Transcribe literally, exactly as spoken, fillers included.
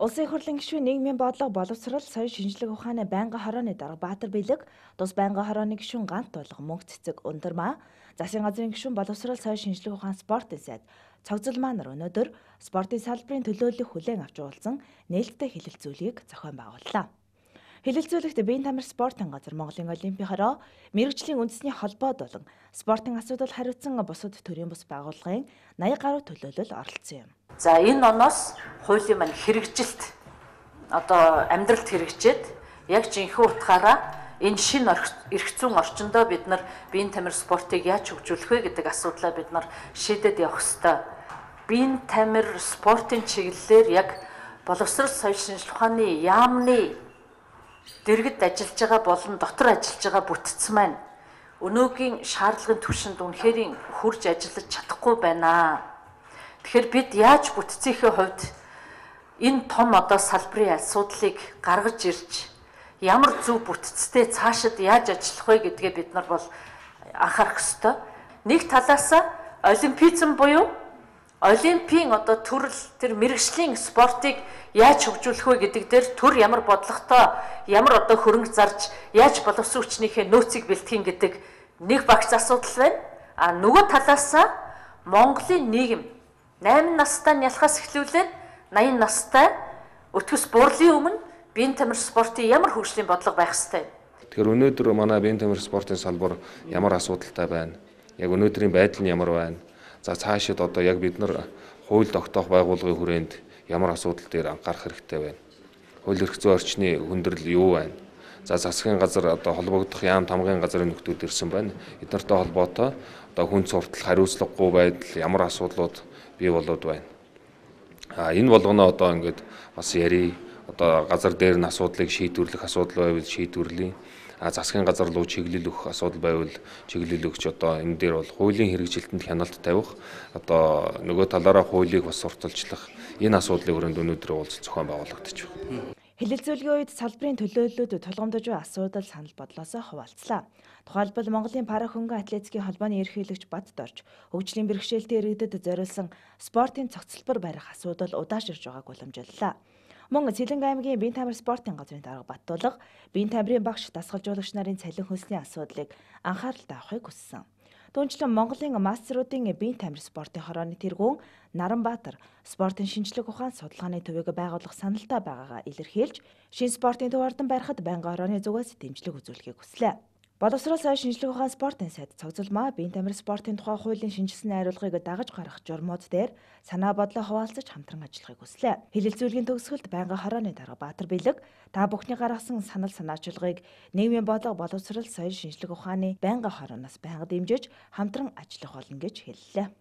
Улсын их хурлын гишүүн нийгмийн бодлого боловсрол соёл шинжлэх ухааны байнгын хорооны дарга Баатар Бэлэг, тус байнгын хорооны гишүүн Гант Тулга, Мөнх Цэцэг Ундрмаа, засгийн газрын гишүүн боловсрол соёл шинжлэх ухаан спортын сайд Цогцолмаа нар өнөөдөр спортын салбарын төлөөллөх хүлээн авч уулзсан нээлттэй хэлэлцүүлгийг зохион байгууллаа. Хэлэлцүүлэгт биеийн тамир спортын газар, Монголын олимпийн хороо, мэрэгжлийн үндэсний холбоо болон спортын асуудал хариуцсан бусад төрийн бус байгууллагын наяа гаруй төлөөлөл оролцсон юм. За энэ оноос хуулийн маань хэрэгжилт одоо амьдралд хэрэгжээд яг жинхэнэ утгаараа энэ шинэ эрх зүйн орчиндөө бид нар биеийн тамир спортыг яаж хөгжүүлэх вэ гэдэг асуудлаа бид нар шийдээд явах ёстой. Биеийн тамир спортын чиглэлээр яг боловсрол соёл шинжлэх ухааны яамны дэргэд ажиллаж байгаа болон дотор ажиллаж байгаа бүтц маань өнөөгийн шаардлагын түвшинд үнэхээр хурж ажиллаж чадахгүй байна. Тэгэхээр бид яаж бүтцийнхээ хувьд энэ том одоо салбарын асуудлыг гаргаж ирж ямар зөв бүтцтэй цаашид яаж ажиллах вэ гэдгээ бид нар бол анхаарах ёстой. Нэг талаас олимпизм буюу олимпийн одоо төрөл тэр мэрэгжлийн спортыг яаж хөгжүүлэх вэ гэдэг дээр төр ямар бодлоготой ямар одоо хөрөнгө зарж яаж боловсон хүчнийхээ нөөцийг бэлтгэн гэдэг нэг багц асуудал байна. А нөгөө талаас Монголын нийгэм найман настай нялхаас эхлүүлээд наян настай өтгөс бурлын өмнө биеийн тамир спортын ямар хөгжлийн бодлого байх ёстой. Тэгэхээр өнөөдөр манай биеийн тамир спортын салбар ямар асуудалтай байна? Яг өнөөдрийн байдал нь ямар байна? За цаашид одоо яг бид нар хууль тогтоох байгууллагын хүрээнд ямар асуудал дээр анхаарах хэрэгтэй байна? Хууль эрх зүйн орчны хүндрэл юу байна? За засгийн газар одоо холбогдох яам тамгын газрын нөхдүүд ирсэн байна. Эднэртэй холбоотой одоо хүн суртал хариуцлагагүй байдал ямар асуудлууд бий болоод байна. А энэ болгоно одоо ингээд бас яри одоо газар дээр нь асуудлыг шийдвэрлэх асуудал байвал шийдвэрлэе. А засгийн газар руу чиглэл өгөх асуудал байвал чиглэл өгч одоо энэ дээр бол хуулийн хэрэгжилтэнд хяналт тавих одоо нөгөө талаараа хуулийг бас сурталчлах энэ асуудлын хүрээнд өнөөдөр уулзалт зохион байгуулагдчих байна. Хэлэлцүүлгийн үед салбарын төлөөллүүд тулгамдж буй асуудал санал бодлосоо хуваалцлаа. Тухайлбал Монголын пара хөнгөн атлетикийн холбооны ерөнхийлөгч Бат Дорж хөгжлийн бэрхшээлтэй иргэдэд зориулсан спортын цогцлбор барих асуудал удаашрж байгааг уламжлалаа. Мөн Цэлэнг аймгийн биеийн тамир спортын газрын дарга Баттулга биеийн тамирын багш дасгалжуулагч нарын цалин хөлсний асуудлыг анхааралтай авахыг хүссэн. Түүнчлэн Монголын мастеруудын биеийн тамир спортын хорооны тэргүүн Наранбаатар спортын шинжлэх ухаан судалгааны төвийг байгуулах саналтай байгаагаа илэрхийлж, шинэ спортын төв ордон барихад байнгын хорооны зүгээс дэмжлэг үзүүлэхийг хүслээ. Боловсрол соёл шинжлэх ухаан спортын сайд Цогцолмаа биеийн тамир спортын тухай хуулийн шинжилсэн найруулгыг дагаж гарах журмууд дээр санаа бодлоо хуваалцаж хамтран ажиллахыг хүслээ. Хэлэлцүүлгийн төгсгөлд байнгын хорооны дарга Баатар Бэлэг та бүхний гаргасан санал санаачлагыг нийгмийн бодлого боловсрол соёл шинжлэх ухааны байнгын хорооноос байнга дэмжиж хамтран ажиллах болно гэж хэллээ.